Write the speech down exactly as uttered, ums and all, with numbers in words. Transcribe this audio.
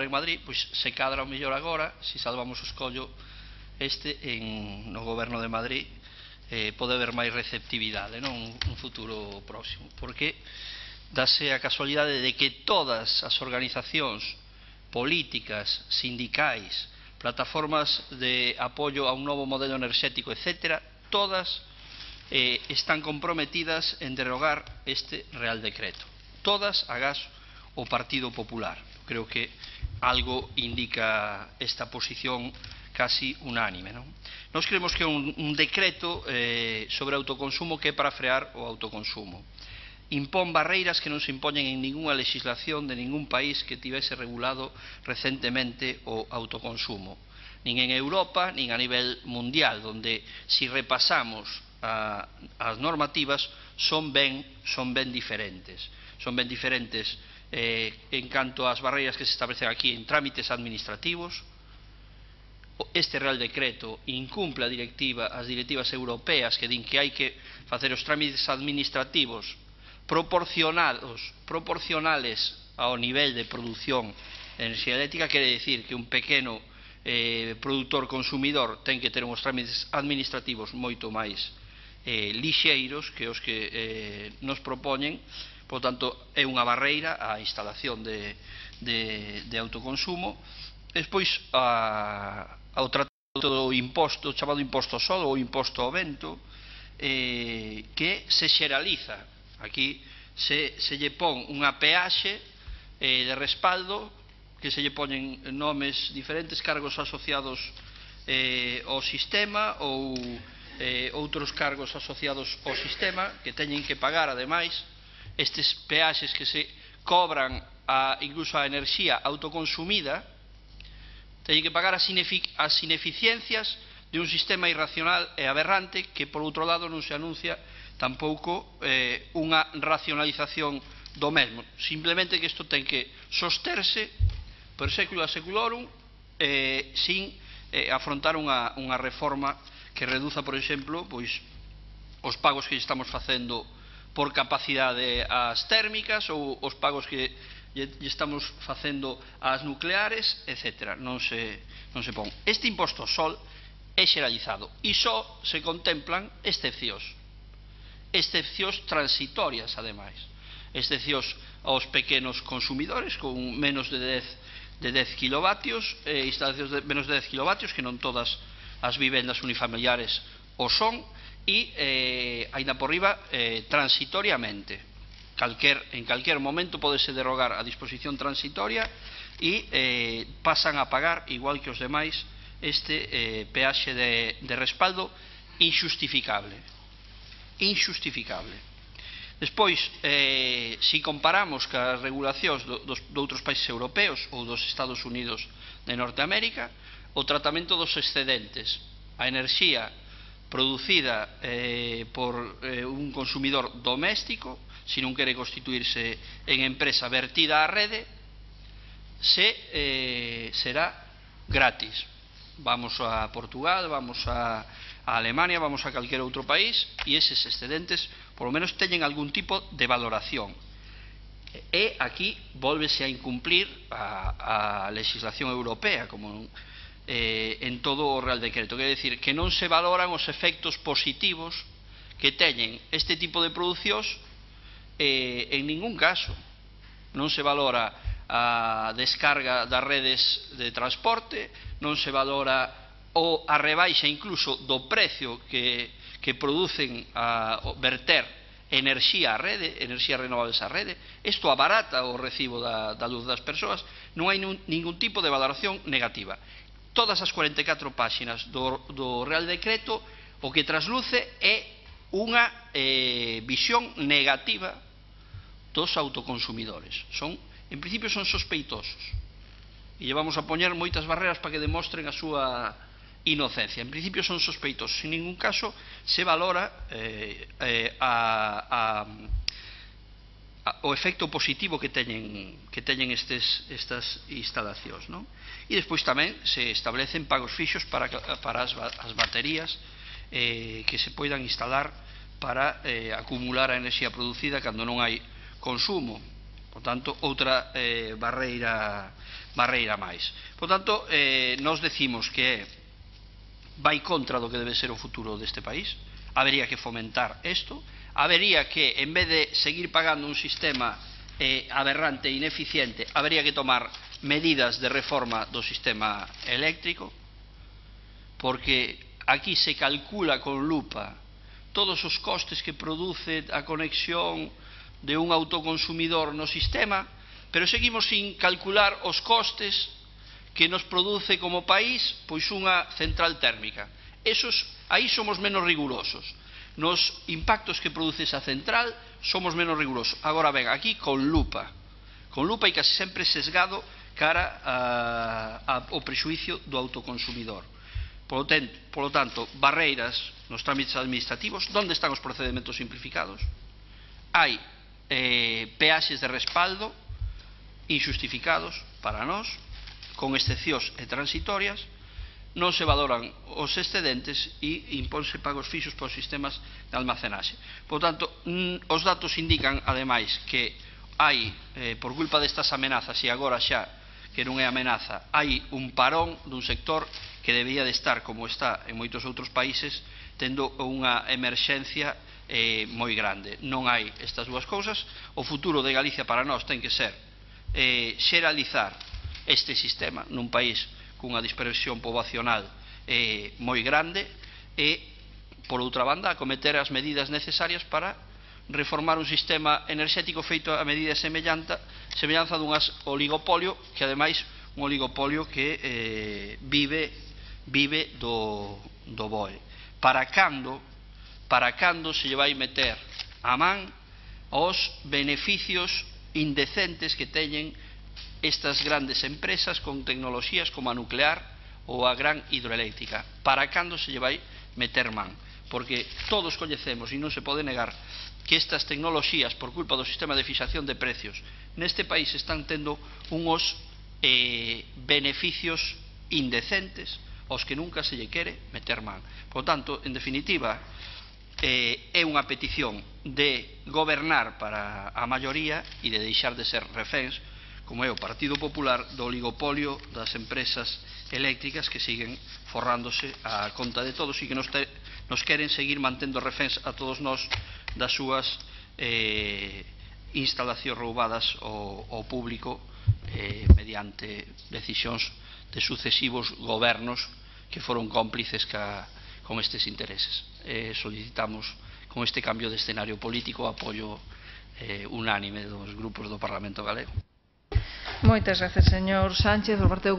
en Madrid, pois se cadra o mellor agora, se salvamos o escollo este en, no goberno de Madrid, eh, pode haber máis receptividade, non? Un, un futuro próximo, porque dase a casualidade de que todas as organizacións políticas, sindicais, plataformas de apoio a un novo modelo enerxético, etcétera, todas eh, están comprometidas en derogar este Real Decreto. Todas, agás, o Partido Popular. Creo que algo indica esta posición casi unánime, non? Nos creemos que é un, un decreto eh, sobre autoconsumo que é para frear o autoconsumo. Impón barreiras que non se impoñen en ninguna legislación de ningún país que tivese regulado recentemente o autoconsumo, nin en Europa, nin a nivel mundial, donde si repasamos a, as normativas son ben, son ben diferentes. Son ben diferentes eh, en canto ás barreiras que se establecen aquí en trámites administrativos. Este Real Decreto incumple a directiva, as directivas europeas que din que hai que facer os trámites administrativos proporcionados, proporcionales ao nivel de produción de enerxía eléctrica. Quere dicir que un pequeno eh, produtor consumidor ten que ter uns trámites administrativos moito máis eh, lixeiros que os que eh, nos propoñen. Por tanto, é unha barreira á instalación de, de, de autoconsumo. Despois, a, ao tratado do imposto, chamado imposto ao sol ou imposto ao vento, eh, que se xeraliza. Aquí se, se lle pon unha peaxe eh, de respaldo, que se lle poñen nomes diferentes, cargos asociados eh, ao sistema ou eh, outros cargos asociados ao sistema que teñen que pagar, ademais, estes peaxes que se cobran a, incluso a enerxía autoconsumida, teñen que pagar as, inefic as ineficiencias de un sistema irracional e aberrante que, por outro lado, non se anuncia tampouco eh, unha racionalización do mesmo. Simplemente que isto ten que sosterse per século a seculorum eh, sin eh, afrontar unha, unha reforma que reduza, por exemplo, pois, os pagos que estamos facendo por capacidade ás térmicas ou os pagos que lle estamos facendo ás nucleares, etcétera. Non se, non se pon. Este imposto ao sol é xeralizado e só se contemplan excepcións. Excepcións transitorias, ademais. Excepcións aos pequenos consumidores con menos de dez, de dez kilovatios, eh, instalacións de menos de dez kilovatios, que non todas as vivendas unifamiliares o son, e, eh, aínda por riba, eh, transitoriamente. Calquer, en calquer momento podese derogar a disposición transitoria e eh, pasan a pagar, igual que os demais, este eh, peaxe de, de respaldo injustificable. Injustificable. Despois, eh, si comparamos cas regulacións do, dos, de outros países europeos ou dos Estados Unidos de Norteamérica, o tratamento dos excedentes, a enerxía producida eh, por eh, un consumidor doméstico, se non quere constituirse en empresa vertida á rede, se eh, será gratis. Vamos a Portugal, vamos a, a Alemania, vamos a calquer outro país e eses excedentes por lo menos teñen algún tipo de valoración. E aquí volvese a incumplir a, a legislación europea, como eh, en todo o Real Decreto. Quer decir que non se valoran os efectos positivos que teñen este tipo de producións eh, en ningún caso. Non se valora a descarga das redes de transporte, non se valora o a rebaixa incluso do precio que, que producen a verter enerxía á rede, enerxía renovables á rede. Isto abarata o recibo da, da luz das persoas. Non hai nun, ningún tipo de valoración negativa. Todas as cuarenta e catro páxinas do, do Real Decreto o que trasluce é unha eh, visión negativa dos autoconsumidores. Son, en principio son sospeitosos e lle vamos a poñer moitas barreras para que demostren a súa inocencia. En principio son sospeitosos. En ningún caso se valora eh, eh, a, a, a, o efecto positivo que teñen, que teñen estes, estas instalacións, non? E despois tamén se establecen pagos fixos para, para as, as baterías eh, que se poidan instalar para eh, acumular a enerxía producida cando non hai consumo. Por tanto, outra eh, barreira, barreira máis. Por tanto, eh, nos decimos que vai contra do que debe ser o futuro deste país, habería que fomentar isto, habería que, en vez de seguir pagando un sistema eh, aberrante e ineficiente, habería que tomar medidas de reforma do sistema eléctrico, porque aquí se calcula con lupa todos os costes que produce a conexión de un autoconsumidor no sistema, pero seguimos sin calcular os costes que nos produce como país pois unha central térmica. Esos, aí somos menos rigurosos. Nos impactos que produce esa central somos menos rigurosos. Agora ben, aquí con lupa, con lupa e casi sempre sesgado cara a, a, ao prexuicio do autoconsumidor. Por lo tanto, barreiras nos trámites administrativos. Onde están os procedementos simplificados? Hai eh, peaxes de respaldo injustificados para nós, con excepcións e transitorias, non se valoran os excedentes e impónse pagos fixos para os sistemas de almacenaxe. Por tanto, os datos indican, ademais, que hai, eh, por culpa destas amenazas, e agora xa que non é amenaza, hai un parón dun sector que debía de estar, como está en moitos outros países, tendo unha emerxencia eh, moi grande. Non hai estas dúas cousas. O futuro de Galicia para nós ten que ser eh, xeralizar este sistema nun país cunha dispersión poboacional eh, moi grande e, por outra banda, acometer as medidas necesarias para reformar un sistema enerxético feito a medida semellanza, semellanza dun oligopolio que, ademais, un oligopolio que eh, vive, vive do, do B O E. Para cando, para cando se lle vai meter a man os beneficios indecentes que teñen estas grandes empresas con tecnoloxías como a nuclear ou a gran hidroeléctrica? Para cando se lle vai meter man? Porque todos coñecemos, e non se pode negar, que estas tecnoloxías, por culpa do sistema de fixación de precios, neste país están tendo uns eh, beneficios indecentes aos que nunca se lle quere meter man. Por tanto, en definitiva, eh, é unha petición de gobernar para a maioría e de deixar de ser reféns, como é o Partido Popular, do oligopolio das empresas eléctricas que siguen forrándose a conta de todos e que nos, te, nos queren seguir mantendo reféns a todos nós das súas eh, instalacións roubadas ao, ao público eh, mediante decisións de sucesivos gobernos que foron cómplices ca, con estes intereses. Eh, solicitamos con este cambio de escenario político o apoio eh, unánime dos grupos do Parlamento galego. Moitas gracias, señor Sánchez. Por parte do